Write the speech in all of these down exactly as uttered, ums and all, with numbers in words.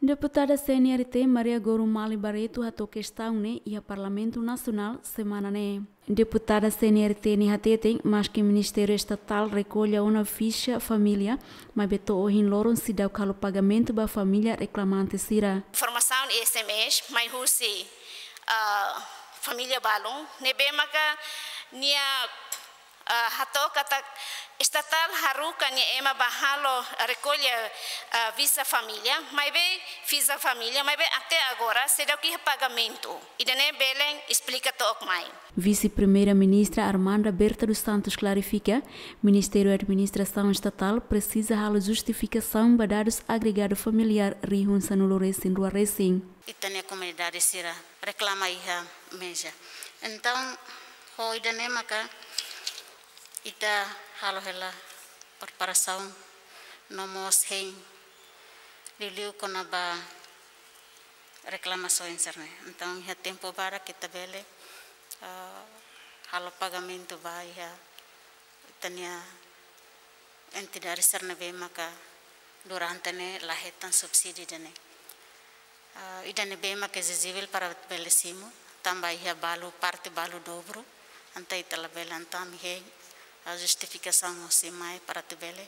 Deputada C N R T Maria Goro Mali Barreto hato'o kestaun ne'e iha Parlamentu Nasionál semana ne'e. Deputada C N R T ne'e hateten, maski Ministériu Estatál rekolla ona fixa família, maibé to'o ohin loron seidauk halo pagamentu ba família reklamante sira. Informasaun S M S mai husi, ah, família balun ne'ebé maka nia, ah, hato'o katak estatál haruka nia ema ba halo rekolla, ah, fixa família, maibé fixa família, maibé até agora seidauk iha pagamentu. Ida-ne'e bele esplika took mai. Vise-Primeira-Ministra Armanda Berta dos Santos klarifika, Ministériu Administrasaun Estatál presiza halo justifikasaun ba dadus agregadu familiár rihun sanulu resin rua resin. Ita-nia komunidade sira reklama iha meja. Entaun, ho ida-ne'e maka ita halo hela preparasaun no mós hein liuliu kona-ba reklamasaun sira-ne'e. Entaun, iha tempu badak ita bele, ah, halo pagamentu ba iha ita-nia entidade sira ne'ebé maka durante ne'e la hetan subsídiu ida-ne'e. Ah, ida-ne'ebé maka ezijibel para bele simu, tanba iha balu, parte balu dobru, entaun ita labele, entaun ami hein, ah, justifikasaun hosi mai para atu bele,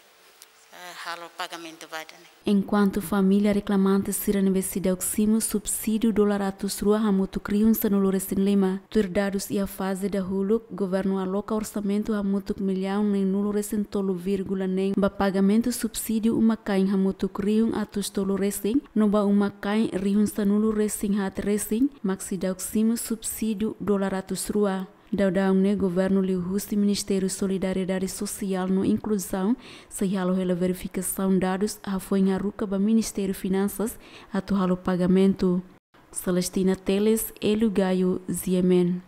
eh, halo pagamentu ba ida-ne'e. Enkuantu família reklamante sira ne'ebé seidauk simu subsídiu dolar atus rua hamutuk rihun sanulu resin lima. Tuir dadus iha faze dahuluk, governu aloka orsamentu hamutuk millaun neen-nulu resin tolu vírgula neen ba pagamentu subsídiu uma-kain hamutuk rihun atus tolu resin, no ba uma-kain rihun sanulu resin haat resin, mak seidauk simu subsídiu dolar atus rua. Daudaun ne'e governu liuhusi Ministériu Solidariedade Sosiál no Inkluzaun sei halo hela verifikasaun dadus hafoin haruka ba Ministériu Finansas atu halo pagamentu. Celestina Teles, Hélio Gaio, G M N.